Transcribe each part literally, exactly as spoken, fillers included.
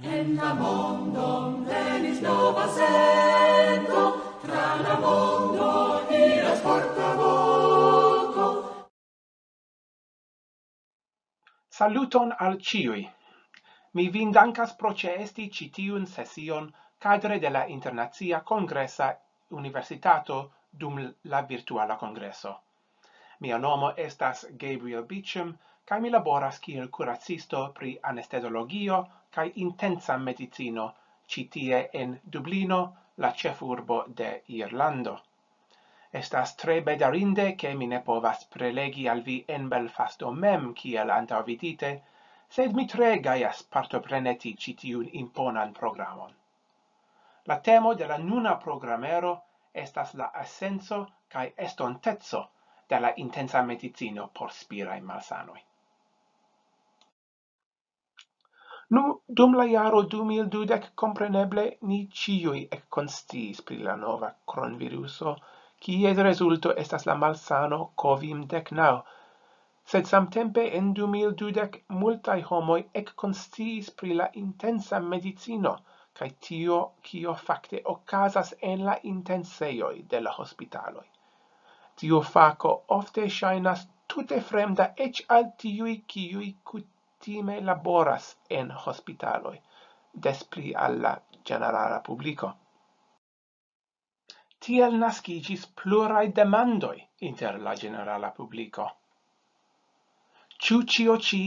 En la mondon venis nova sento, tra la mondo iras portavoko. Saluton al ĉiuj. Mi vin dankas pro ĉeesti ĉi tiun sesion kadre de la Internacia Kongresa Universitato dum la virtuala kongreso. Mia nomo estas Gabriel Beecham, kaj mi laboras kiel kuracisto pri anestezologio kaj intensa medicino ĉi tie en Dublino, la ĉefurbo de Irlando. Estas tre bedarinde, ke mi ne povas prelegi al vi en Belfasto mem kiel antaŭvidite, sed mi tre gajas partopreneti ĉi tiun imponan programon. La temo de la nuna programero estas la esenco kaj estonteco de la intensa medicino por spiraj malsanoj. Nu, dum la jaro du mil dudek, kompreneble, ni ĉiuj ekkonsciis pri la nova kronviruso, kies rezulto estas la malsano Covid dek naŭ. Sed samtempe en du mil dudek multaj homoj ekkonsciis pri la intensa medicino kaj tio, kio fakte okazas en la intensejoj de la hospitaloj. Tiu fako ofte ŝajnas tute fremda eĉ al tiuj, kiuj kutime laboras en hospitaloj, des pli al la ĝenerala publiko. Tiel naskiĝis pluraj demandoj inter la ĝenerala publiko. Ĉu ĉio ĉi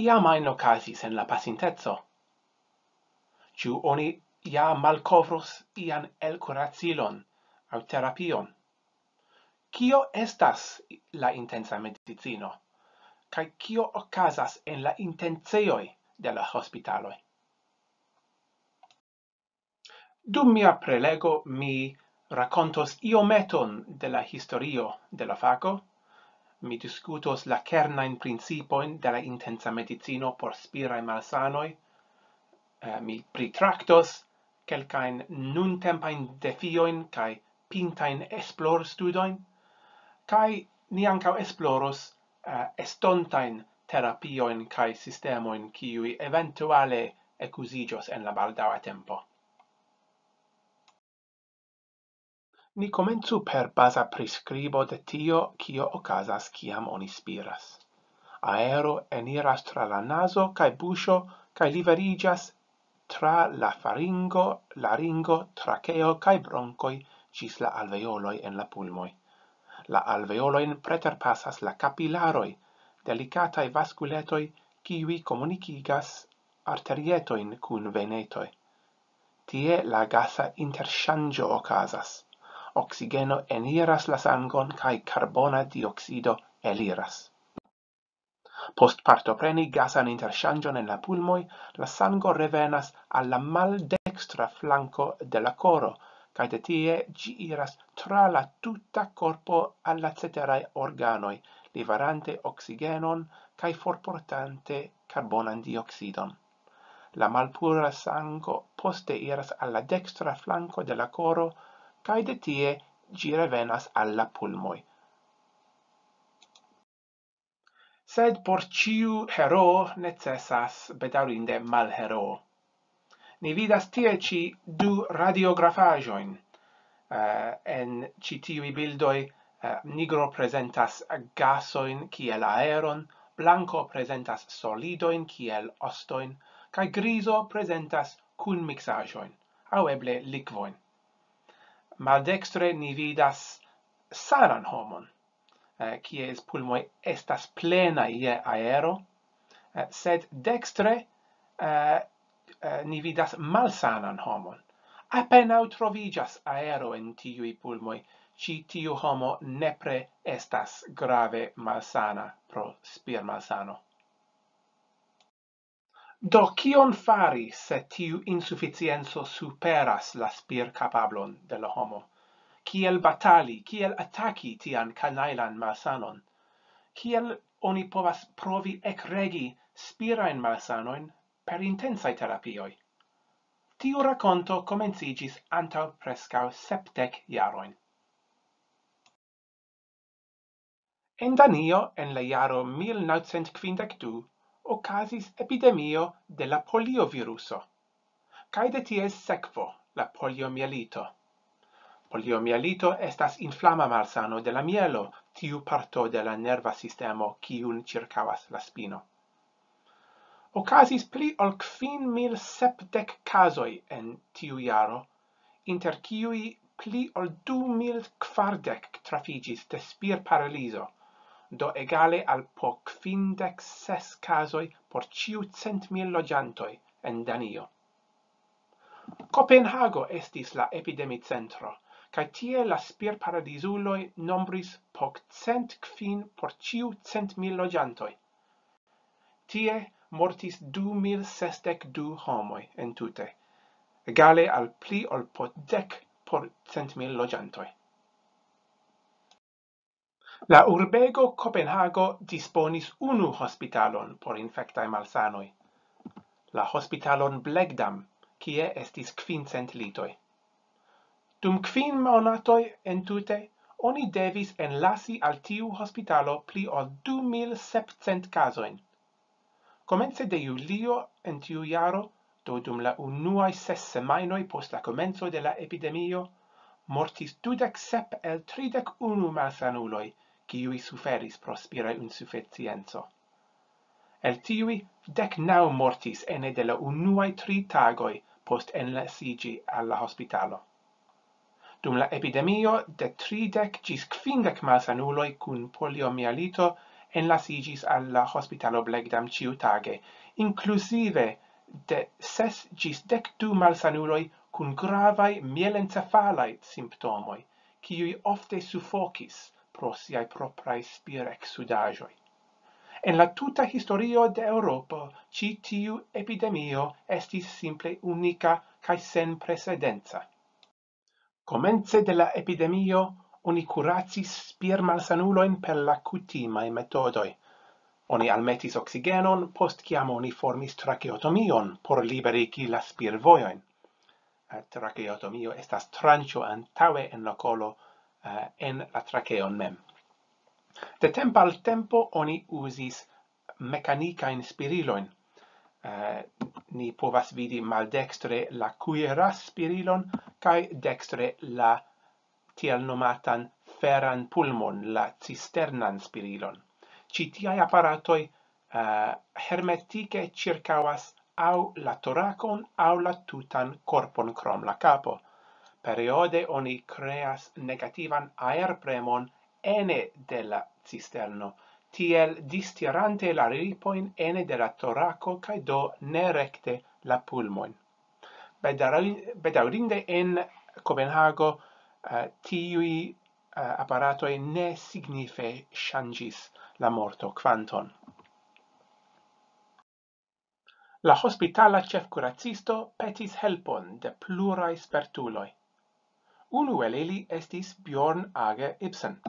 iam ajn okazis en la pasinteco? Ĉu oni ja malkovros ian elkuracilon aŭ terapion? Kio estas la intensa medicino? Kaj kio okazas en la intensejoj de la hospitaloj? Dum mia prelego mi rakontos iometon de la historio de la fako. Mi diskutos la kernajn principojn de la intensa medicino por spiraj malsanoj. Eh, mi pritraktos kelkajn nuntempajn defiojn kaj pintajn esplorstudojn, kaj ni ankaŭ esploros, eh, estontajn terapiojn kaj sistemojn, kiuj eventuale ekuziĝos en la baldaŭa tempo. Ni komencu per baza priskribo de tio, kio okazas, kiam oni spiras. Aero eniras tra la nazo kaj buŝo kaj liveriĝas tra la faringo, laringo, trakeo kaj bronkoj ĝis la alveoloj en la pulmoj. La alveolojn preterpasas la kapilaroj, delikataj vaskuletoj, kiuj komunikigas arterietojn kun venetoj. Tie la gasa interŝanĝo okazas. Oksigeno eniras la sangon kaj karbona dioksido eliras. Post partopreni gasan interŝanĝon en la pulmoj, la sango revenas al la maldekstra flanko de la koro, kaj de tie ĝi iras tra la tuta korpo al la ceteraj organoj, liverante oksigenon kaj forportante karbonan dioksidon. La malpura sango poste iras al la dekstra flanko de la koro, kaj de tie ĝi revenas al la pulmoj. Sed por ĉiu heroo necesas, bedaŭrinde, malheroo. Ni vidas tie ĉi du radiografaĵojn. Eh, en ĉi tiuj bildoj, eh, nigro prezentas gasojn kiel aeron, blanko prezentas solidojn kiel ostojn, kaj grizo prezentas kunmiksaĵojn, aŭ eble likvojn. Maldekstre ni vidas sanan homon, eh, kies pulmoj estas plenaj je aero, eh, sed dekstre, eh, eh, ni vidas malsanan homon. Apenaŭ troviĝas aero en tiuj pulmoj. Ĉi tiu homo nepre estas grave malsana pro spirmalsano. Do, kion fari, se tiu insuficienco superas la spirkapablon de la homo? Kiel batali, kiel ataki tian kanajlan malsanon? Kiel oni povas provi ekregi spirajn malsanojn per intensaj terapioj? Tiu rakonto komenciĝis antaŭ preskaŭ sepdek jarojn. En Danio, en la jaro mil naŭcent kvindek du, okazis epidemio de la polioviruso. kaj de ties sekvo, la poliomielito. Poliomielito estas inflama malsano de la mielo, tiu parto de la nerva sistemo, kiun ĉirkaŭas la spino. Okazis pli ol kvin mil sepdek kazoj en tiu jaro, inter kiuj pli ol du mil kvardek trafiĝis de spirparalizo, do egale al po kvindek ses kazoj por ĉiu cent mil loĝantoj en Danio. Kopenhago estis la epidemicentro, kaj tie la spirparalizuloj nombris po cent kvin por ĉiu cent mil loĝantoj. Tie mortis du mil sesdek du homoj entute, egale al pli ol po dek por cent mil loĝantoj. La urbego Kopenhago disponis unu hospitalon por infektaj malsanoj, la hospitalon Blegdam, kie estis kvincent litoj. Dum kvin monatoj entute oni devis enlasi al tiu hospitalo pli ol du mil sepcent kazojn. Komence de julio en tiu jaro, do dum la unuaj ses semajnoj post la komenco de la epidemio, mortis dudek sep el tridek unu malsanuloj, kiuj suferis pro spira insuficienco. El tiuj, dek naŭ mortis ene de la unuaj tri tagoj post enlasiĝi al la hospitalo. Dum la epidemio, de tridek ĝis kvindek malsanuloj kun poliomielito enlasiĝis al la hospitalo Blegdam ĉiutage, inkluzive de ses ĝis dek du malsanuloj kun gravaj mielencefalaj simptomoj, kiuj ofte sufokis pro siaj propraj spireksudaĵoj. En la tuta historio de Eŭropo, ĉi tiu epidemio estis simple unika kaj senprecedenca. Komence de la epidemio oni kuracis spirmalsanulojn per la kutimaj metodoj. Oni almetis oksigenon, post kiam oni formis trakeotomion por liberigi la spirvojojn. Eh, Trakeotomio estas tranĉo antaŭe en la kolo, eh, en la trakeon mem. De tempo al tempo oni uzis mekanikajn spirilojn. Eh, Ni povas vidi maldekstre la kuiras spirilon kaj dekstre la tiel nomatan feran pulmon, la cisternan spirilon. Ĉi tiaj aparatoj, eh, hermetike ĉirkaŭas aŭ la torakon aŭ la tutan korpon krom la kapo. Periode oni kreas negativan aerpremon ene de la cisterno, tiel distirante la ripojn ene de la torako kaj do ne rekte la pulmojn. Bedaŭri-, bedaŭrinde en Kopenhago, eh, tiuj, eh, aparatoj ne signife ŝanĝis la morto kvanton. La hospitala ĉefkuracisto petis helpon de pluraj spertuloj. Unu el ili estis Bjorn Age Ibsen.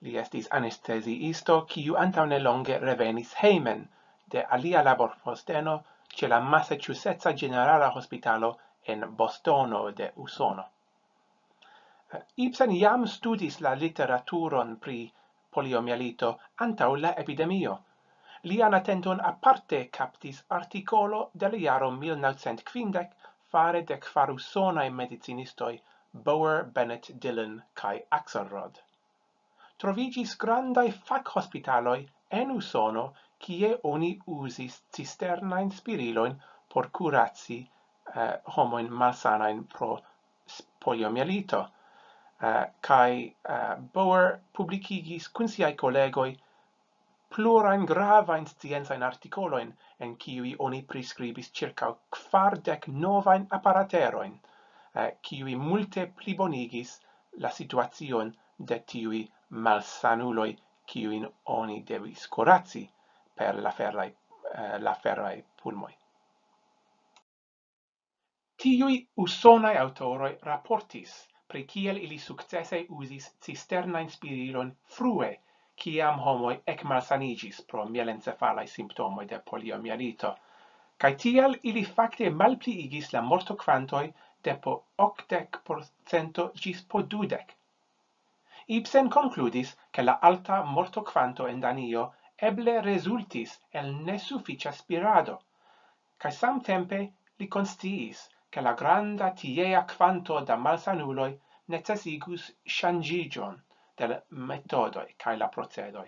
Li estis anesteziisto, kiu antaŭ nelonge revenis hejmen de alia laborposteno ĉe la Massachusettsa Ĝenerala Hospitalo en Bostono de Usono. Ibsen jam studis la literaturon pri poliomielito antaŭ la epidemio. Lian atenton aparte kaptis artikolo de la jaro mil naŭcent kvindek fare de kvar usonaj medicinistoj Bower, Bennett, Dillon kaj Axelrod. Troviĝis grandaj fakhospitaloj en Usono, kie oni uzis cisternajn spirilojn por kuraci, eh, homojn malsanajn pro s-, poliomielito. Eh, kaj, eh, Bower publikigis kun siaj kolegoj plurajn gravajn sciencajn artikolojn, en kiuj oni priskribis ĉirkaŭ kvardek novajn aparaterojn, eh, kiuj multe plibonigis la situacion de tiuj malsanuloj, kiujn oni devis kuraci per la feraj, eh, la feraj pulmoj. Tiuj usonaj aŭtoroj raportis pri kiel ili sukcese uzis cisternajn spirilojn frue, kiam homoj ekmalsaniĝis pro mielencefalaj simptomoj de poliomielito, kaj tiel ili fakte malpliigis la mortokvantoj de po okdek procento ĝis po dudek. Ibsen konkludis, ke la alta mortokvanto en Danio eble rezultis el nesufiĉa spirado, kaj samtempe li konsciis, ke la granda tiea kvanto da malsanuloj necesigus ŝanĝiĝon de la metodoj kaj la procedoj,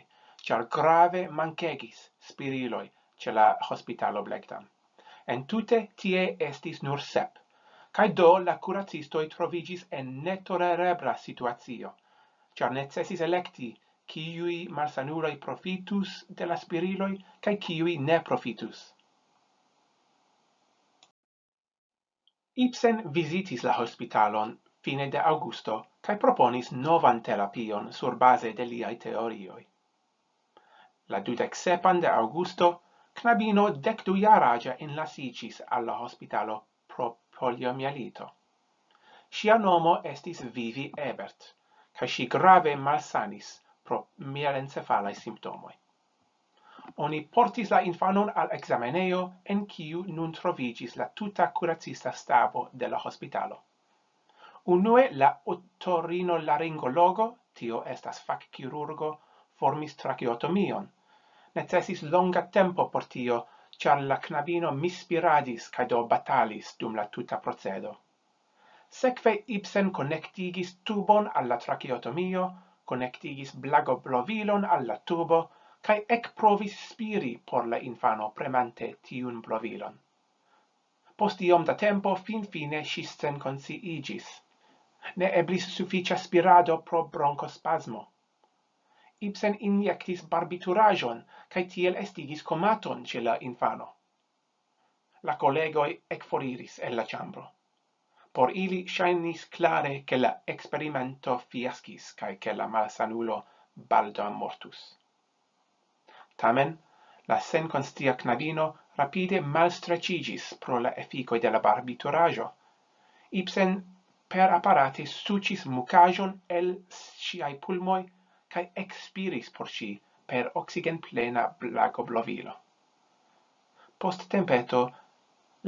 ĉar grave mankegis spiriloj ĉe la hospitalo Blegdan. Entute tie estis nur sep, kaj do la kuracistoj troviĝis en netolerebla situacio, ĉar necesis elekti, kiuj malsanuloj profitus de la spiriloj kaj kiuj ne profitus. Ibsen vizitis la hospitalon fine de aŭgusto kaj proponis novan terapion surbaze de liaj teorioj. La dudek-sepan de aŭgusto, knabino dekdu-jaraĝa enlasiĝis al la hospitalo pro poliomielito. Ŝia nomo estis Vivi Ebert, kaj ŝi grave malsanis pro mielencefalaj simptomoj. Oni portis la infanon al ekzamenejo, en kiu nun troviĝis la tuta kuracista stabo de la hospitalo. Unue la otorinolaringologo, tio estas fakkirurgo, formis trakeotomion. Necesis longa tempo por tio, ĉar la knabino misspiradis kaj do batalis dum la tuta procedo. Sekve Ibsen konektigis tubon al la trakeotomio, konektigis blagoblovilon al la tubo, kaj ekprovis spiri por la infano premante tiun blovilon. Post iom da tempo finfine ŝi senkonsciiĝis. Ne eblis sufiĉa spirado pro bronkospasmo. Ibsen injektis barbituraĵon kaj tiel estigis komaton ĉe la infano. La kolegoj ekforiris el la ĉambro. Por ili ŝajnis klare, ke la eksperimento fiaskis kaj ke la malsanulo baldaŭ mortus. Tamen, la senkonscia knabino rapide malstreĉiĝis pro la efikoj de la barbituraĵo. Ibsen per aparate suĉis mukaĵon el ŝiaj pulmoj kaj ekspiris por ŝi per oksigenplena blagoblovilo. Post tempeto,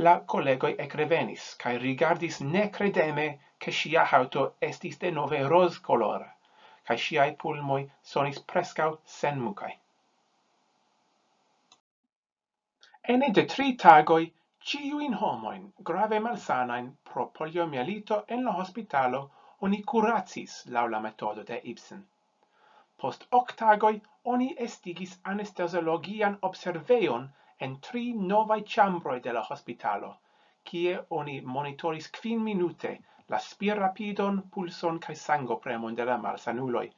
la kolegoj ekrevenis kaj rigardis nekredeme, ke ŝia haŭto estis denove rozkolora, kaj ŝiaj pulmoj sonis preskaŭ senmukaj. Ene de tri tagoj, ĉiujn homojn grave malsanajn pro poliomielito en la hospitalo oni kuracis laŭ la metodo de Ibsen. Post ok tagoj oni estigis anesteziologian observejon en tri novaj ĉambroj de la hospitalo, kie oni monitoris kvin minute la spirrapidon, pulson kaj sangopremon de la malsanuloj.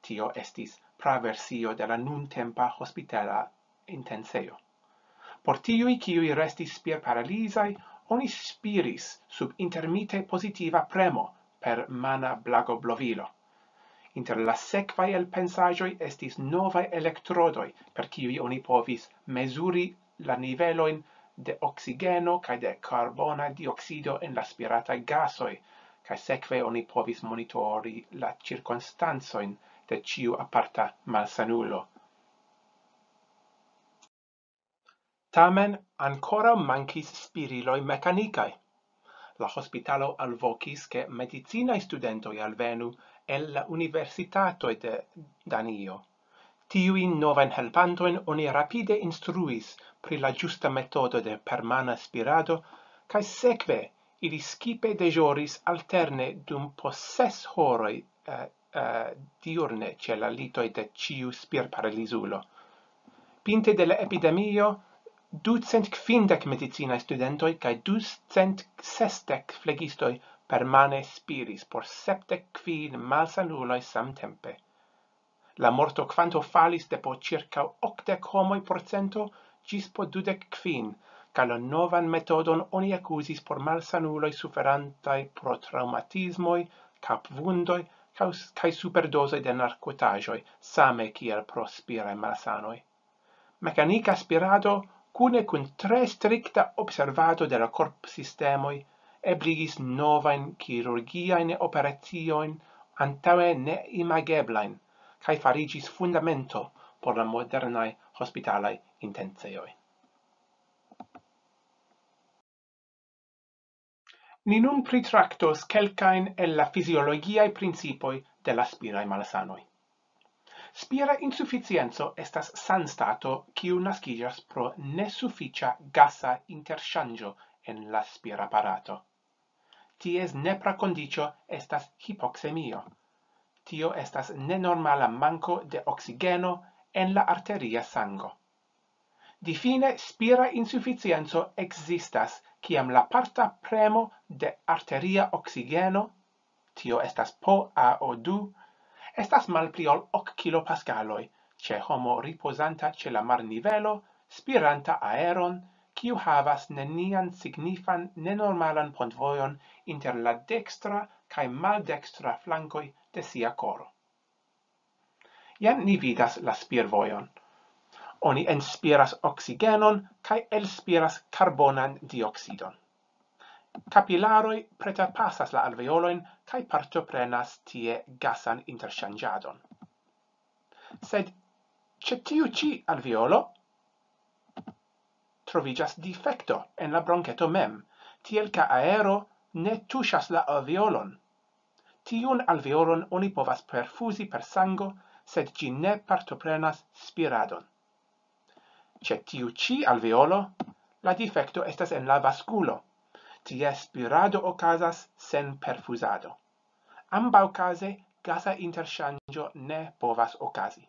Tio estis praversio de la nuntempa hospitala intensejo. Por tiuj, kiuj restis spirparalizaj, oni spiris sub intermite pozitiva premo per mana blagoblovilo. Inter la sekvaj elpensaĵoj estis novaj elektrodoj, per kiuj oni povis mezuri la nivelojn de oksigeno kaj de karbona dioksido en la spirataj gasoj, kaj sekve oni povis monitori la ĉirkonstancojn de ĉiu aparta malsanulo. Tamen ankoraŭ mankis spiriloj mekanikaj. La hospitalo alvokis, ke medicinaj studentoj alvenu el la universitatoj de Danio. Tiujn novajn helpantojn oni rapide instruis pri la ĝusta metodo de permana spirado, kaj sekve ili skipe deĵoris alterne dum po ses horoj, eh, eh, diurne ĉe la litoj de ĉiu spirparalizulo. Pinte de la epidemio, ducent kvindek medicinaj studentoj kaj ducent sesdek flegistoj permane spiris por sepdek kvin malsanuloj samtempe. La morto kvanto falis de po ĉirkaŭ okdek homoj procento ĝis po dudek kvin, kaj la novan metodon oni ekuzis por malsanuloj suferantaj pro traŭmatismoj, kapvundoj kaj, kaj superdozoj de narkotaĵoj, same kiel pro spiraj malsanoj. Mekanika spirado kune kun tre strikta observado de la korpsistemoj ebligis novajn kirurgiajn operaciojn antaŭe neimageblajn, kaj fariĝis fundamento por la modernaj hospitalaj intensejoj. Ni nun pritraktos kelkajn el la fiziologiaj principoj de la spiraj malsanoj. Spira insuficienco estas sanstato, kiu naskiĝas pro nesufiĉa gasa interŝanĝo en la spiraparato. Ties nepra kondiĉo estas hipoksemio. Tio estas nenormala manko de oksigeno en la arteria sango. Difine, spira insuficienco ekzistas, kiam la parta premo de arteria oksigeno, tio estas P A O du, estas malpli ol ok kilopaskaloj, ĉe homo ripozanta ĉe la marnivelo, spiranta aeron, kiu havas nenian signifan nenormalan pontvojon inter la dekstra kaj maldekstra flankoj de sia koro. Jen ni vidas la spirvojon. Oni enspiras oksigenon kaj elspiras karbonan dioksidon. Kapilaroj preterpasas la alveolojn kaj partoprenas tie gasan interŝanĝadon. Sed ĉe tiu ĉi alveolo troviĝas difekto en la bronketo mem, tiel ke aero ne tuŝas la alveolon. Tiun alveolon oni povas perfuzi per sango, sed ĝi ne partoprenas spiradon. Ĉe tiu ĉi alveolo, la difekto estas en la vaskulo. Tie spirado okazas sen perfuzado. Ambaŭkaze gasa interŝanĝo ne povas okazi.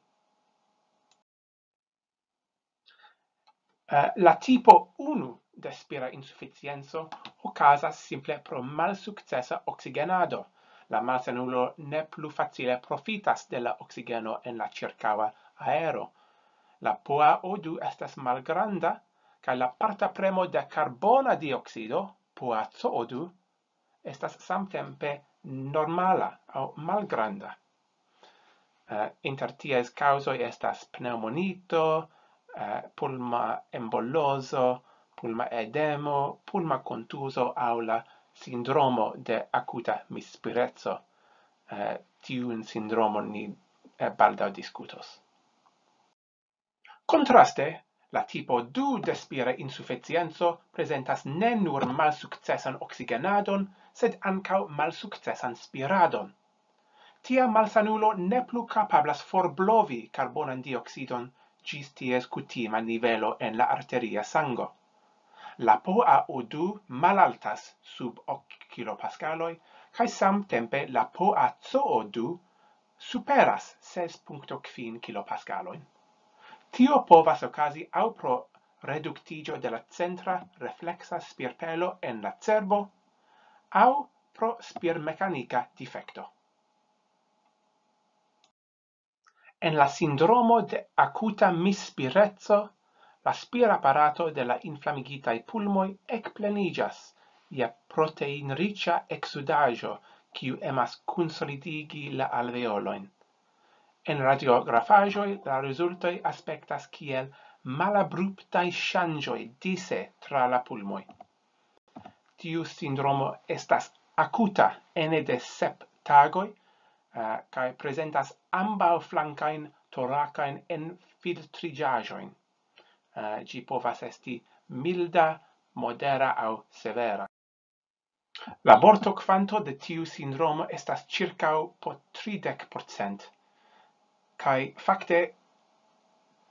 Eh, la tipo unu de spira insuficienco okazas simple pro malsukcesa oksigenado. La malsanulo ne plu facile profitas de la oksigeno en la ĉirkaŭa aero. La P A O du estas malgranda, kaj la parta premo de karbona dioksido, P A C O du, estas samtempe normala aŭ malgranda. Eh, inter ties kaŭzoj estas pneŭmonito, eh, pulma embolozo, pulma edemo, pulma kontuzo aŭ la sindromo de akuta misspireco. Eh, tiun sindromon ni, eh, baldaŭ diskutos. Kontraste, la tipo du de spira insuficienco prezentas ne nur malsukcesan oksigenadon, sed ankaŭ malsukcesan spiradon. Tia malsanulo ne plu kapablas forblovi karbonan dioksidon ĝis ties kutima nivelo en la arteria sango. La P A O du malaltas sub ok kilopaskaloj, kaj samtempe la P A C O du superas ses punkto kvin kilopaskalojn. Tio povas okazi aŭ pro reduktiĝo de la centra refleksa spirpelo en la cerbo aŭ pro spirmekanika difekto. En la sindromo de akuta misspireco, la spiraparato de la inflamigitaj pulmoj ekpleniĝas je proteinriĉa eksudaĵo, kiu emas konsolidigi la alveolojn. En radiografaĵoj la rezultoj aspektas kiel malabruptaj ŝanĝoj dise tra la pulmoj. Tiu sindromo estas akuta ene de sep tagoj, eh, kaj prezentas ambaŭ flankajn torakajn enfiltriĝaĵojn. Eh, ĝi povas esti milda, modera aŭ severa. La mortokvanto de tiu sindromo estas ĉirkaŭ po tridek procent, kaj fakte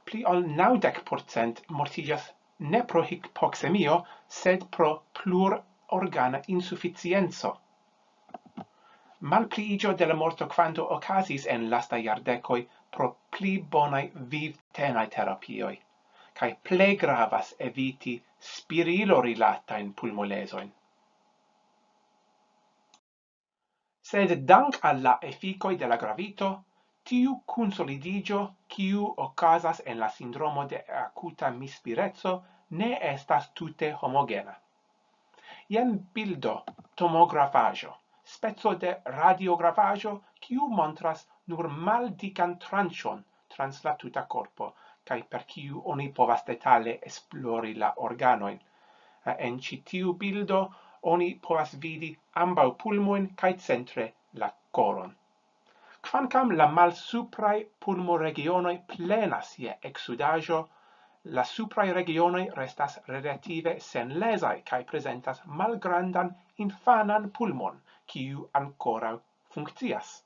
pli ol naŭdek procent mortiĝas ne pro hipoksemio, sed pro plurorgana insuficienco. Malpliiĝo de la mortokvanto okazis en lastaj jardekoj pro pli bonaj vivtenaj terapioj, kaj plej gravas eviti spirilo-rilatajn pulmolezojn. Sed dank al la efikoj de la gravito, tiu konsolidiĝo, kiu okazas en la sindromo de akuta mispireco, ne estas tute homogena. Jen bildo, tomografaĵo, speco de radiografaĵo, kiu montras nur maldikan tranĉon trans la tuta korpo, kaj per kiu oni povas detale esplori la organojn. En ĉi tiu bildo oni povas vidi ambaŭ pulmojn kaj centre la koron. Kvankam la malsupraj pulmoregionoj plenas je eksudaĵo, la supraj regionoj restas relative senlezaj kaj prezentas malgrandan infanan pulmon, kiu ankoraŭ funkcias.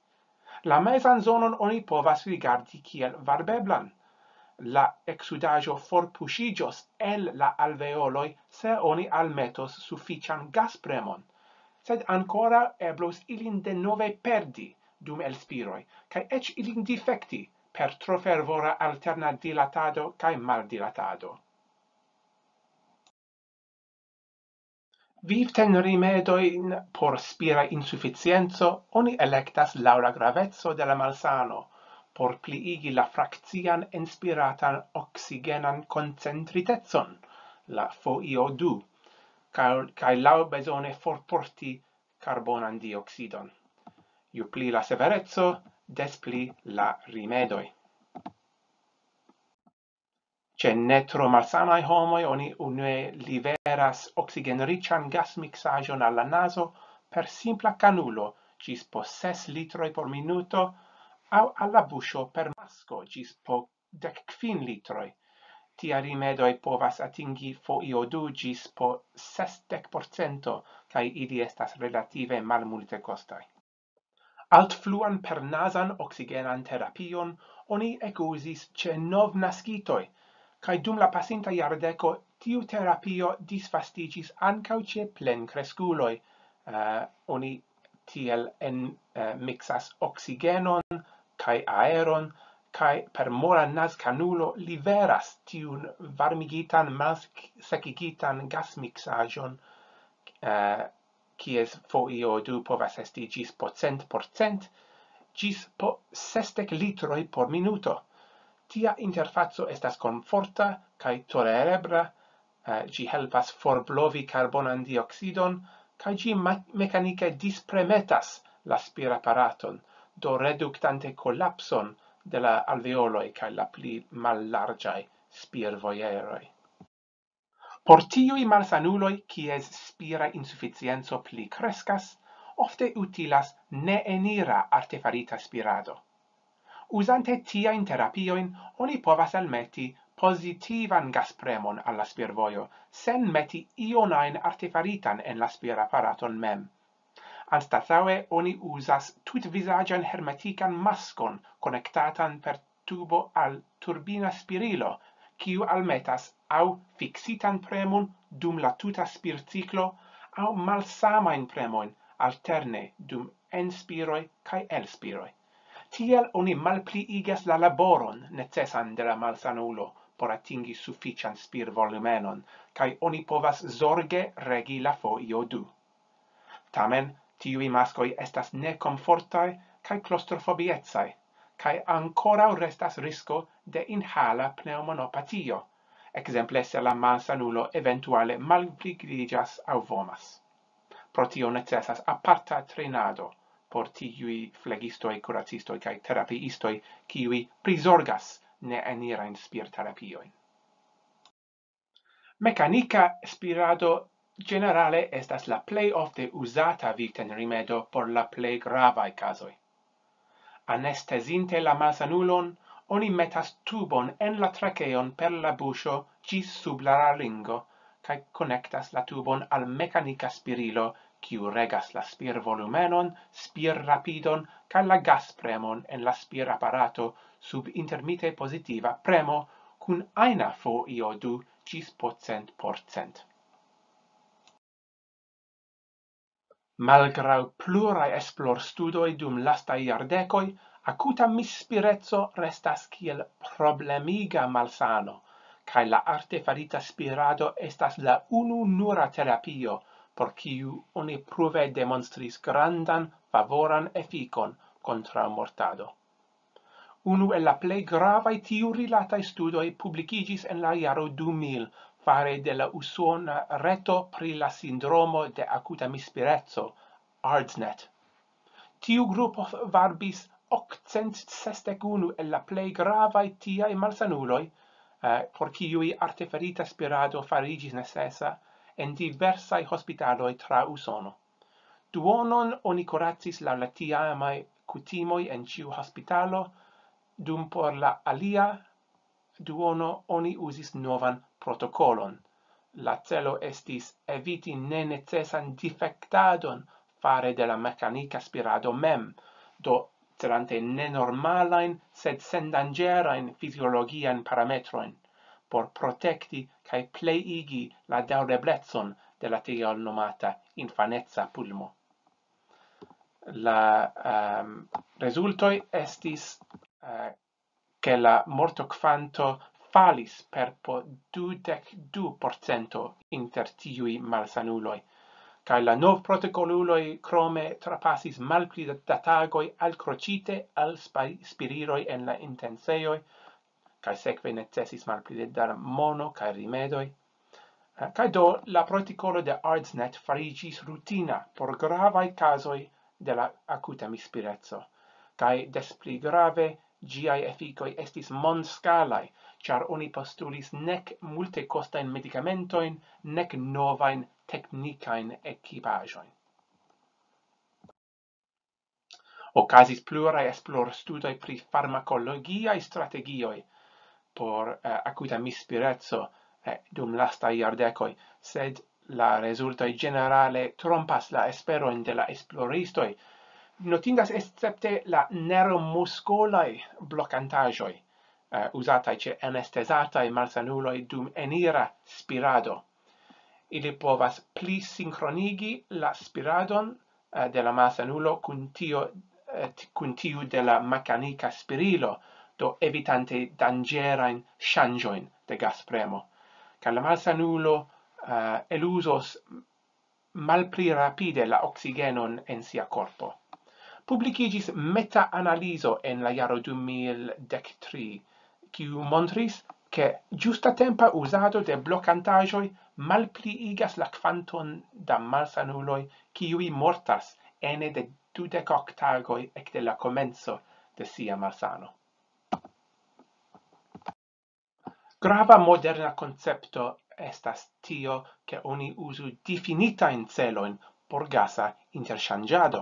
La mezan zonon oni povas rigardi kiel varbeblan. La eksudaĵo forpuŝiĝos el la alveoloj, se oni almetos sufiĉan gaspremon. sed ankoraŭ eblus ilin denove perdi dum elspiroj, kaj eĉ ilin difekti per tro fervora alterna dilatado kaj maldilatado. Vivtenrimedojn por spira insuficienco oni elektas laŭ la graveco de la malsano, por pliigi la frakcian enspiratan oksigenan koncentritecon, la F I O du, kaj, kaj laŭbezone forporti karbonan dioksidon. Ju pli la severeco, des pli la rimedoj. Ĉe ne tro malsanaj homoj oni unue liveras oksigenriĉan gasmiksaĵon al la nazo per simpla kanulo ĝis po ses litroj por minuto aŭ al la buŝo per masko ĝis po dek kvin litroj. Tiaj rimedoj povas atingi F I O du ĝis po sesdek procento, kaj ili estas relative malmultekostaj. Altfluan pernazan oksigenan terapion oni ekuzis ĉe novnaskitoj, kaj dum la pasinta jardeko tiu terapio disvastiĝis ankaŭ ĉe plenkreskuloj. Eh, oni tiel en, eh, miksas oksigenon kaj aeron, kaj per mola nazkanulo liveras tiun varmigitan, malsekigitan gasmiksaĵon, eh, kies F I O du povas esti ĝis po cent procent, ĝis po sesdek litroj por minuto. Tia interfaco estas komforta kaj tolerebla, eh, ĝi helpas forblovi karbonan dioksidon, kaj ĝi ma-, mekanike dispremetas la spiraparaton, do reduktante kolapson de la alveoloj kaj la pli mallarĝaj spirvojeroj. Por tiuj malsanuloj, kies spira insuficienco pli kreskas, ofte utilas neenira artefarita spirado. Uzante tiajn terapiojn, oni povas almeti pozitivan gaspremon al la spirvojo, sen meti ion ajn artefaritan en la spiraparaton mem. Anstataŭe oni uzas tutvizaĝan hermetikan maskon konektatan per tubo al turbina spirilo, kiu almetas aŭ fiksitan premon dum la tuta spirciklo aŭ malsamajn premojn alterne dum enspiroj kaj elspiroj. Tiel oni malpliigas la laboron necesan de la malsanulo por atingi sufiĉan spirvolumenon, kaj oni povas zorge regi la F I O du. Tamen, tiuj maskoj estas nekomfortaj kaj klostrofobiecaj, kaj ankoraŭ restas risko de inhala pneŭmonopatio, ekzemple se la malsanulo eventuale malpligriĝas aŭ vomas. Pro tio necesas aparta trejnado por tiuj flegistoj, kuracistoj kaj terapiistoj, kiuj prizorgas neenirajn spirterapiojn. Mekanika spirado ĝenerale estas la plej ofte uzata vivtenrimedo por la plej gravaj kazoj. Anestezinte la malsanulon, oni metas tubon en la trakeon per la buŝo ĝis sub la laryngo, kaj konektas la tubon al mekanika spirilo, kiu regas la spirvolumenon, spirrapidon, kaj la gaspremon en la spiraparato sub intermite pozitiva premo kun ajna F I O du ĝis po cent procent. Malgraŭ pluraj esplorstudoj dum lastaj jardekoj, akuta misspireco restas kiel problemiga malsano, kaj la artefarita spirado estas la unu nura terapio, por kiu oni pruve demonstris grandan favoran efikon kontraŭ mortado. Unu el la plej gravaj tiurilataj studoj publikiĝis en la jaro du mil fare de la usona reto pri la sindromo de akuta mispireco, ARDSNET. Tiu grupo varbis okcent sesdek unu el la plej gravaj tiaj malsanuloj, eh, por kiuj artefarita spirado fariĝis necesa en diversaj hospitaloj tra Usono. Duonon oni kuracis laŭ la tiamaj kutimoj en ĉiu hospitalo, dum por la alia duono oni uzis novan protokolon. La celo estis eviti nenecesan difektadon fare de la mekanika spirado mem, do celante nenormalajn, sed sendanĝerajn fiziologiajn parametrojn, por protekti kaj pleiigi la daŭreblecon de la tiel nomata infaneca pulmo. La um, rezultoj estis uh, ke la mortokvanto falis per po dudek du procento inter tiuj malsanuloj, kaj la nov protokoluloj krome trapasis malpli da tagoj alkroĉite al spiriroj en la intensejoj, kaj sekve necesis malpli da mono kaj rimedoj. Kaj do la protikolo de ARDSNET fariĝis rutina por gravaj kazoj de la akuta mispireco, kaj des pli grave ĝiaj efikoj estis mondskalaj, ĉar oni postulis nek multekostajn medikamentojn, nek novajn teknikajn ekipaĵojn. Okazis pluraj esplorstudoj pri farmakologiaj strategioj por uh, akuta mispireco uh, dum lastaj jardekoj, sed la rezultoj ĝenerale trompas la esperojn de la esploristoj. Notindas escepte la neuromuskolaj blokantaĵoj, uh, uzataj ĉe anestezataj malsanuloj dum enira spirado. Ili povas pli sinkronigi la spiradon de la malsanulo kun tio kun tiu de la mekanika spirilo, do evitante danĝerajn ŝanĝojn de gaspremo. Kaj la malsanulo uh, eluzos malpli rapide la oksigenon en sia korpo. Publikiĝis meta-analizo en la jaro du mil dek tri, kiu montris, ke ĝustatempa uzado de blokantaĵoj malpliigas la kvanton da malsanuloj, kiuj mortas ene de dudek ok tagoj ekde la komenco de sia malsano. Grava moderna koncepto estas tio, ke oni uzu difinitajn celojn por gasa interŝanĝado.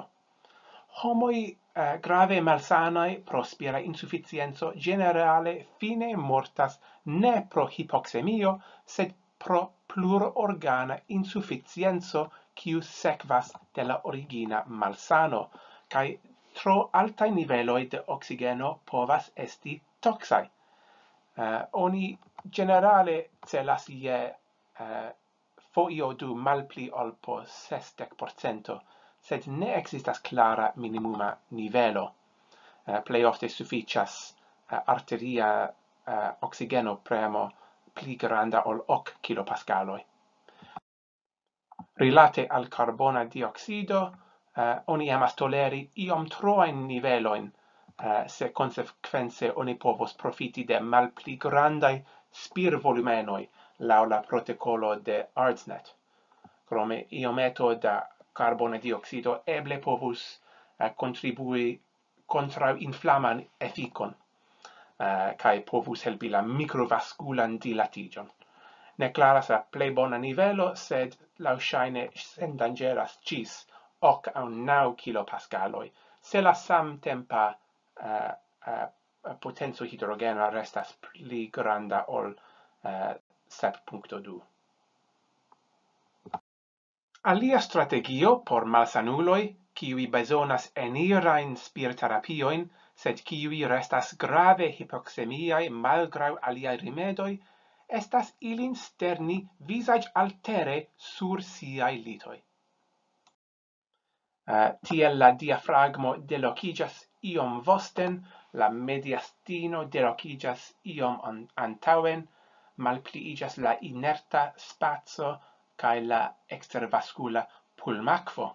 Homoj eh, grave malsanaj pro spira insuficienco ĝenerale fine mortas ne pro hipoksemio, sed pro plurorgana insuficienco, kiu sekvas de la origina malsano, kaj tro altaj niveloj de oksigeno povas esti toksaj. Uh, oni ĝenerale celas je uh, foio du malpli ol po sesdek procento, sed ne ekzistas klara minimuma nivelo. Uh, plej ofte sufiĉas uh, arteria uh, oksigeno premo pli granda ol ok kilopaskaloj. Rilate al karbona dioksido, uh, oni emas toleri iom troajn nivelojn, uh, se konsekvence oni povos profiti de malpli grandaj spirvolumenoj laŭ la protokolo de ARDSNET. Krome iometo da karbona dioksido eble povus uh, kontribui kontraŭinflaman efikon uh, kaj povus helpi la mikrovaskulan dilatiĝon. Ne klaras la plej bona nivelo, sed laŭŝajne sendanĝeras ĝis ok aŭ naŭ kilopaskaloj, se la samtempa uh, uh, potenco hidrogena restas pli granda ol uh, sep punkto du. Alia strategio por malsanuloj, kiuj bezonas enirajn spirterapiojn, sed kiuj restas grave hipoksemiaj malgraŭ aliaj rimedoj, estas ilin sterni vizaĝaltere sur siaj litoj. Uh, tiel la diafragmo delokiĝas iom vosten, la mediastino delokiĝas iom antaŭen, malpliiĝas la inerta spaco kaj la ekstervaskula pulmakvo.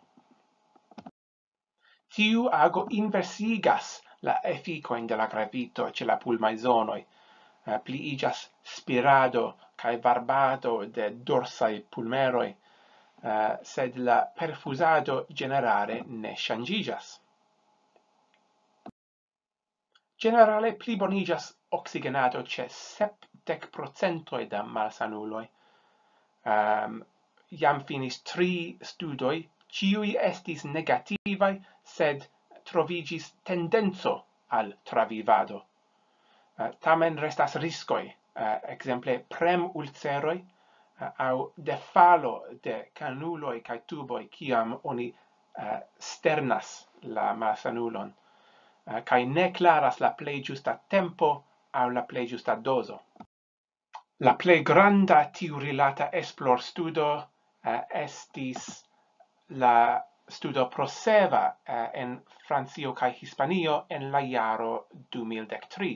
Tiu ago inversigas la efikojn de la gravito ĉe la pulmaj zonoj. Uh, pliiĝas spirado kaj varbado de dorsaj pulmeroj, uh, sed la perfuzado ĝenerale ne ŝanĝiĝas. Ĝenerale pliboniĝas oksigenado ĉe sepdek procentoj da malsanuloj. Um, jam finis tri studoj, ĉiuj estis negativaj, sed troviĝis tendenco al travivado. Uh, tamen restas riskoj, uh, ekzemple premulceroj uh, aŭ defalo de kanuloj kaj tuboj, kiam oni uh, sternas la malsanulon, uh, kaj ne klaras la plej ĝusta tempo aŭ la plej ĝusta dozo. La plej granda tiurilata esplorstudo eh, estis la studo pro seva, eh, en Francio kaj Hispanio en la jaro du mil dek tri.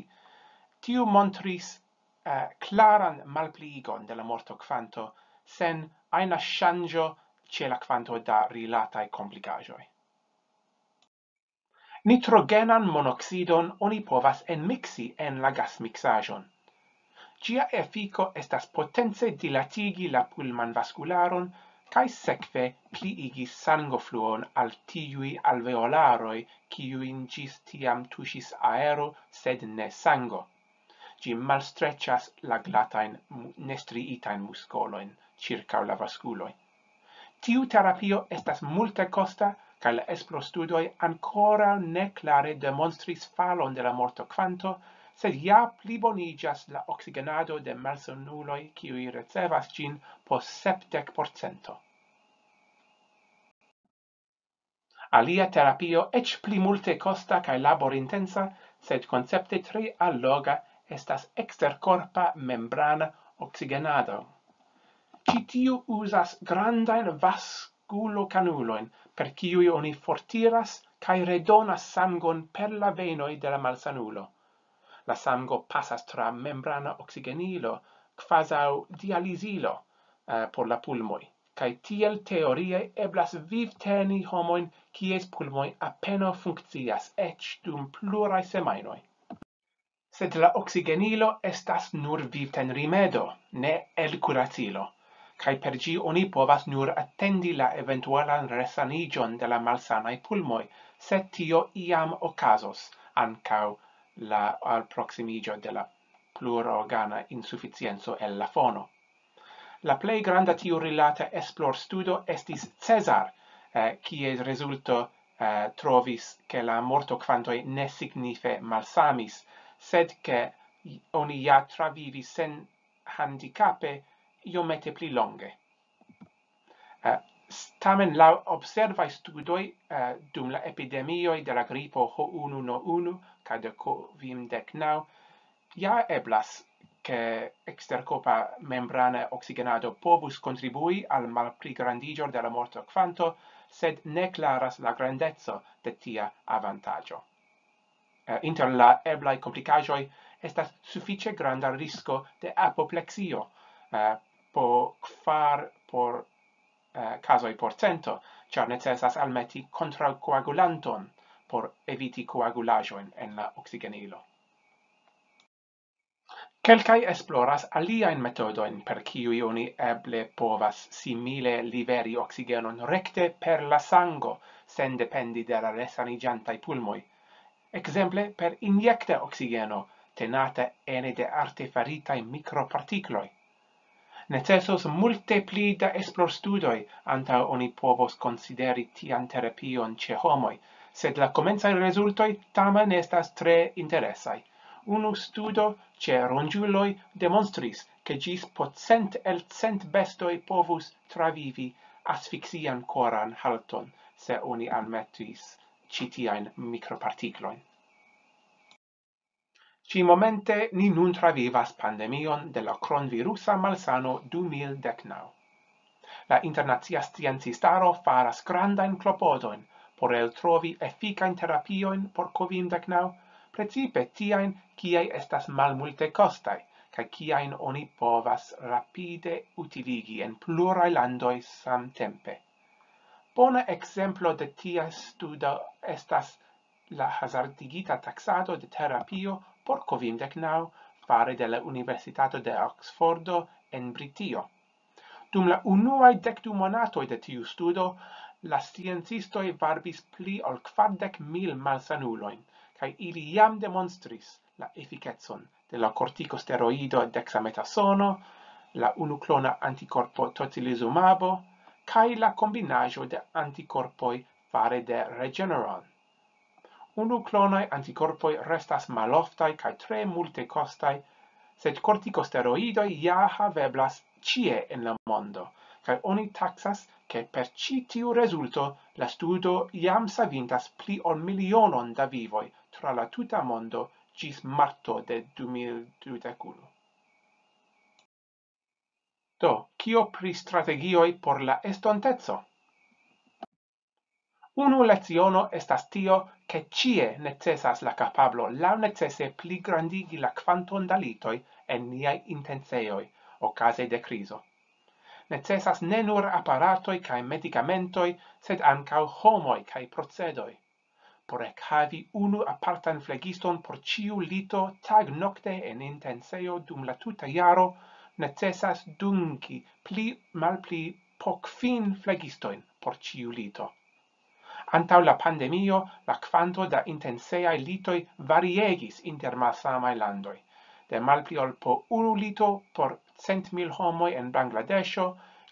Tiu montris, eh, klaran malpliigon de la mortokvanto sen ajna ŝanĝo ĉe la kvanto da rilataj komplikaĵoj. Nitrogenan monoksidon oni povas enmiksi en la gasmiksaĵon. Ĝia efiko estas potence dilatigi la pulmanvaskularon kaj sekve pliigi sangofluon al tiuj alveolaroj, kiujn ĝis tiam tuŝis aero, sed ne sango. Ĝi malstreĉas la glatajn, mu-, nestriitajn muskolojn ĉirkaŭ la vaskuloj. Tiu terapio estas multekosta, kaj la esplorstudoj ankoraŭ ne klare demonstris falon de la mortokvanto, sed ja pliboniĝas la oksigenado de malsanuloj, kiuj ricevas ĝin, po sepdek procento. Alia terapio, eĉ pli multekosta kaj laborintensa, sed koncepte tre alloga, estas eksterkorpa membrana oksigenado. Ĉi tiu uzas grandajn vaskulokanulojn, per kiuj oni fortiras kaj redonas sangon per la venoj de la malsanulo. La sango pasas tra membrana oksigenilo, kvazaŭ dializilo, eh, por la pulmoj, kaj tiel teorie eblas vivteni homojn, kies pulmoj apenaŭ funkcias eĉ dum pluraj semajnoj. Sed la oksigenilo estas nur vivtenrimedo, ne elkuracilo, kaj per ĝi oni povas nur atendi la eventualan resaniĝon de la malsanaj pulmoj, se tio iam okazos, ankaŭ la alproksimiĝo de la plurorgana insuficienco el la fono. La plej granda tiurilata esplorstudo estis Cesar, eh, kies rezulto, eh, trovis, ke la mortokwantoj ne signife malsamis, sed ke oni ja travivis sen handikape iomete pli longe. Eh, s-, tamen laŭ observaj studoj, eh, dum la epidemioj de la gripo H unu N unu kaj de COVID-19, ja eblas, ke eksterkorpa membrana oksigenado povus kontribui al malpligrandiĝo de la mortokvanto, sed ne klaras la grandeco de tia avantaĝo. Eh, inter la eblaj komplikaĵoj estas sufiĉe granda risko de apopleksio, eh, po kvar por, eh, kazoj por cento, ĉar necesas almeti kontraŭkoagulanton por eviti koagulaĵojn en la oksigenilo. Kelkaj esploras aliajn metodojn, per kiuj oni eble povas simile liveri oksigenon rekte per la sango, sen dependi de la resaniĝantaj pulmoj. Ekzemple per injekta oksigeno, tenata ene de artefaritaj mikropartikloj. Necesos multe pli da esplorstudoj antaŭ oni povos konsideri tian terapion ĉe homoj, sed la komencaj rezultoj tamen estas tre interesaj. Unu studo ĉe ronĝuloj demonstris, ke ĝis po cent el cent bestoj povus travivi asfiksian koran halton, se oni almetis ĉi tiajn mikropartiklojn. Ĉi-momente ni nun travivas pandemion de la kronvirusa malsano du mil dek naŭ. La internacia sciencistaro faras grandajn klopodojn por eltrovi efikajn terapiojn por COVID-19, precipe tiajn, kiaj estas malmultekostaj, kaj kiajn oni povas rapide utiligi en pluraj landoj samtempe. Bona ekzemplo de tia studo estas la hazardigita taksado de terapio por COVID-19 fare de la Universitato de Oxfordo en Britio. Dum la unuaj dek du monatoj de tiu studo, la sciencistoj varbis pli ol kvardek mil malsanulojn, kaj ili jam demonstris la efikecon de la kortikosteroido dexametasono, la unuklona antikorpo tocilizumabo, kaj la kombinaĵo de antikorpoj fare de Regeneron. Unuklonaj antikorpoj restas maloftaj kaj tre multekostaj, sed kortikosteroidoj ja haveblas ĉie en la mondo, kaj oni taksas, ke per ĉi tiu rezulto la studo jam savintas pli ol milionon da vivoj tra la tuta mondo ĝis marto de du mil dudek unu. Do, Kio pri strategioj por la estonteco? Unu leciono estas tio, ke ĉie necesas la kapablo laŭnecese pligrandigi la kvanton da litoj en niaj intencejoj okaze de krizo. Necesas ne nur aparatoj kaj medikamentoj, sed ankaŭ homoj kaj procedoj. Por ekhavi unu apartan flegiston por ĉiu lito tagnokte en intencejo dum la tuta jaro, necesas dungi pli malpli po kvin flegistojn por ĉiu lito. Antaŭ la pandemio, la kvanto da intenceaj litoj variegis inter malsamaj landoj, de malpli ol po unu lito por cent mil homoj en Bangladeŝo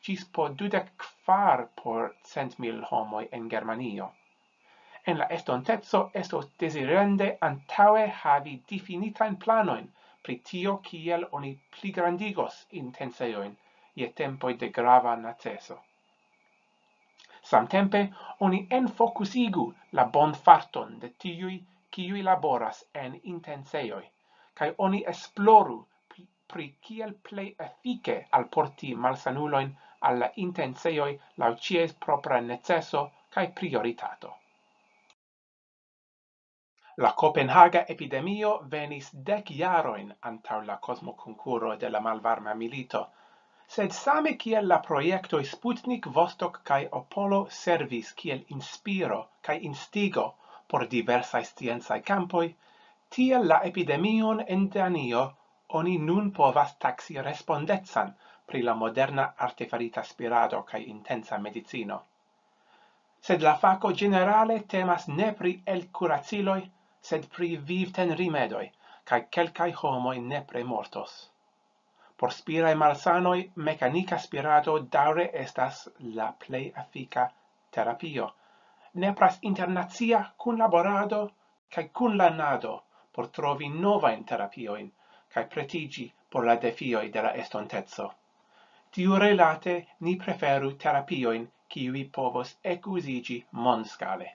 ĝis po dudek kvar por cent mil homoj en Germanio. En la estonteco estos dezirende antaŭe havi difinitajn planojn pri tio, kiel oni pligrandigos intencejojn je tempoj de grava neceso. Samtempe oni enfokusigu la bonfarton de tiuj, kiuj laboras en intencejoj, kaj oni esploru pri, pri kiel plej efike alporti malsanulojn al la intencejoj laŭ ĉies propra neceso kaj prioritato. La Kopenhaga epidemio venis dek jarojn antaŭ la kosmokonkuro de la malvarma milito, sed same kiel la projektoj Sputnik, Vostok kaj Apollo servis kiel inspiro kaj instigo por diversaj sciencaj kampoj, tiel la epidemion en Danio oni nun povas taksi respondecan pri la moderna artefarita spirado kaj intensa medicino. Sed la fako ĝenerale temas ne pri elkuraciloj, sed pri vivtenrimedoj, kaj kelkaj homoj nepre mortos. Por spiraj malsanoj mekanika spirado daŭre estas la plej efika terapio. Nepras internacia kunlaborado kaj kunlernado por trovi novajn terapiojn kaj pretiĝi por la defioj de la estonteco. Tiurilate ni preferu terapiojn, kiuj povos ekuziĝi mondskale.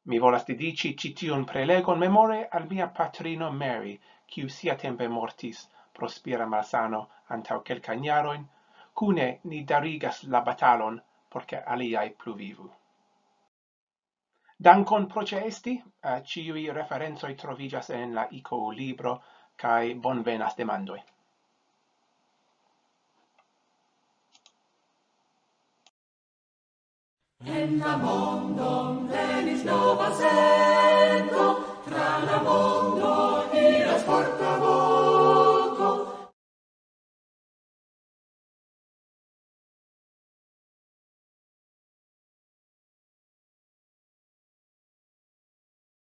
Mi volas dediĉi ĉi tiun prelegon memore al mia patrino Mary, kiu siatempe mortis pro spira malsano antaŭ kelkajn jarojn. Kune ni darigas la batalon, por ke aliaj pluvivu. Dankon pro ĉeesti, eh, ĉiuj referencoj troviĝas en la I K U libro, kaj bonvenas demandoj. En la mondon venis nova sento, tra la mondo iras portavoĉo.